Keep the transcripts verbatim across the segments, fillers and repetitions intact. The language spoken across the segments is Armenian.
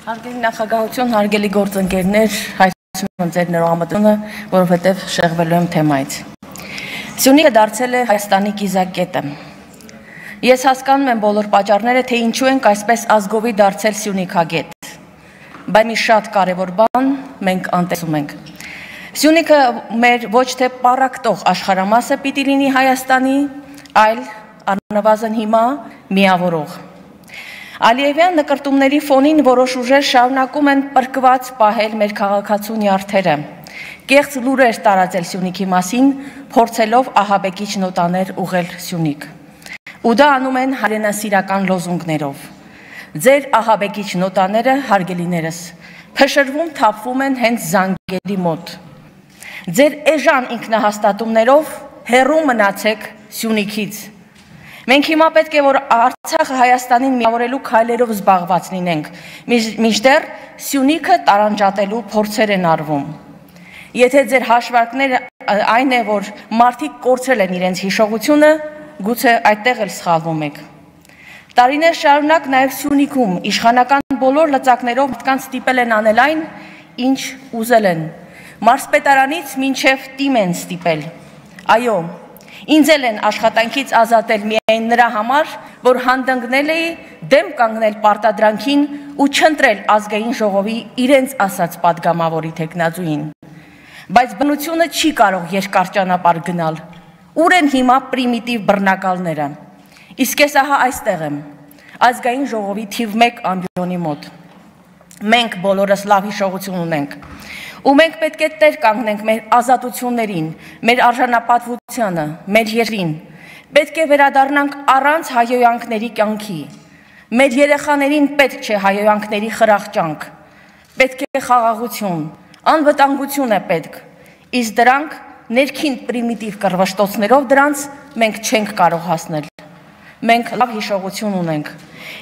Հարգելի նախագահություն, հարգելի գործընկերներ, հայցում եմ ձեր ներողամտությունը, որովհետև շեղվելու եմ թեմայից։ Սյունիքը դարձել է Հայաստանի կիզակետը։ Ես հասկանում եմ բոլոր պատճառները, թե ինչու ենք այսպես ազգովի դարձել Սյունիքագետ։ Բայց մի շատ կարևոր բան մենք անտեսում ենք։ Սյունիքը մեր ոչ թե պառակտող աշխարհամասը պիտի լինի Հայաստանի, այլ առնվազն հիմա միավորող։ Ալիևյան նկրտումների ֆոնին որոշ ուժեր շարունակում են պրկված պահել մեր քաղաքացու նյարդերը, կեղծ լուրեր տարածել Սյունիքի մասին, փորձելով ահաբեկիչ նոտաներ ուղղել Սյունիք։ Ու դա անում են հայրենասիրական լոզունգներով։ Ձեր ահաբեկիչ նոտաները, հարգելիներս, փշրվում թափվում են հենց զանգերի մոտ։ Ձեր էժան ինքնահաստատումներով հեռու մնացեք Սյունիքից։ Մենք հիմա պետք է, որ Արցախը Հայաստանին միավորելու քայլերով զբաղված լինենք, մինչդեռ Սյունիքը տարանջատելու փորձեր են արվում։ Եթե ձեր հաշվարկները այն է, որ մարդիկ կորցրել են իրենց հիշողությունը, գուցե այդտեղ էլ սխալվում եք։ Տարիներ շարունակ նաև Սյունիքում իշխանական բոլոր լծակներով մարդկանց ստիպել են անել այն, ինչ ուզել են։ Մարզպետարանից մինչև տիմ են ստիպել։ Այո, ինձ էլ են աշխատանքից ազատել միայն նրա համար, որ հանդգնել էի դեմ կանգնել պարտադրանքին ու չընտրել ազգային ժողովի իրենց ասած պատգամավորի թեկնածուին։ Բայց բնությունը չի կարող երկար ճանապարհ գնալ։ Ուր են հիմա պրիմիտիվ բռնակալները։ Իսկ ես ահա այստեղ եմ, ազգային ժողովի թիվ մեկ ամբիոնի մոտ։ Մենք բոլորս լավ հիշողություն ունենք։ Ու մենք պետք է տեր կանգնենք մեր ազատություններին, մեր արժանապատվությանը, մեր երկրին։ Պետք է վերադառնանք առանց հայհոյանքների կյանքի։ Մեր երեխաներին պետք չէ հայհոյանքների խրախճանք։ Պետք է խաղաղություն, անվտանգություն է պետք։ Իսկ դրանք ներքին պրիմիտիվ կռվշտոցներով դրանց մենք չենք կարող հասնել։ Մենք լավ հիշողություն ունենք։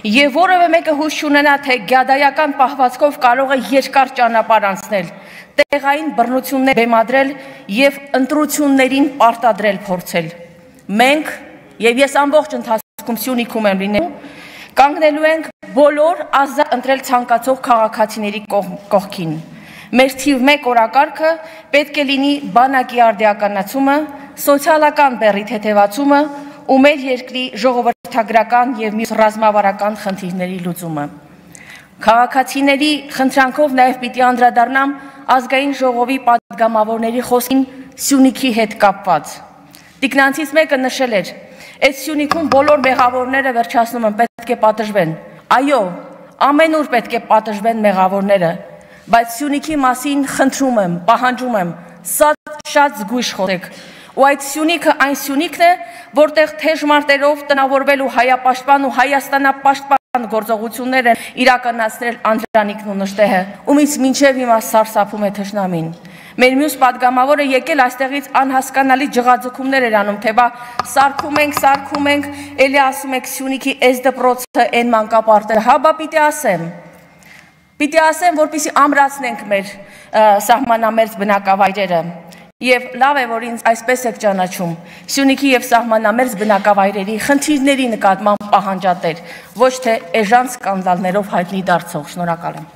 Եվ որևէ մեկը հույս չունենա, թե գյադայական պահվածքով կարող է երկար ճանապարհ անցնել, տեղային բռնություններ բեմադրել եւ ընտրություններին պարտադրել փորձել։ Մենք եւ ես ամբողջ ընթացքում Սյունիքում եմ լինելու, կանգնելու ենք բոլոր ազատ ընտրել ցանկացող քաղաքացիների կողքին։ Մեր թիվ մեկ օրակարգը պետք է լինի բանակի արդիականացումը, սոցիալական բեռի թեթևացումը ու մեր երկրի ժողովրդագրական եւ մյուս ռազմավարական խնդիրների լուծումը։ Քաղաքացիների խնդրանքով նաև պիտի անդրադառնամ ազգային ժողովի պատգամավորների խոսքին Սյունիքի հետ կապված։ Տիկնանցից մեկը նշել էր, այդ Սյունիքում բոլոր մեղավորները վերջացնում են, պետք է պատժվեն։ Այո, ամենուր պետք է պատժվեն մեղավորները, բայց Սյունիքի մասին խնդրում եմ, պահանջում եմ, շատ զգույշ խոսեք։ Ու այդ Սյունիքը այն Սյունիքն է, որտեղ թեժ մարտերով տնավորվելու հայապաշտպան ու հայաստանապաշտպան գործողություններ են իրականացրել Անդրանիկն ու Նժդեհը, ումից մինչև հիմա սարսափում է թշնամին։ Մեր մյուս պատգամավորը եկել այստեղից անհասկանալի ջղաձգումներ էր անում, թե բա սարքում ենք, սարքում ենք, էլի ասում եք Սյունիքի էս դպրոցը են մանկապարտերը, հա բա պիտի ասեմ։ Պիտի ասեմ, որպեսզի ամրացնենք մեր սահմանամերձ բնակավայրերը։ Եվ լավ է, որ ինձ այսպես եք ճանաչում, Սյունիքի եւ սահմանամերձ բնակավայրերի խնդիրների նկատմամբ պահանջատեր, ոչ թե էժան սկանդալներով հայտնի դարձող։ Շնորհակալ եմ։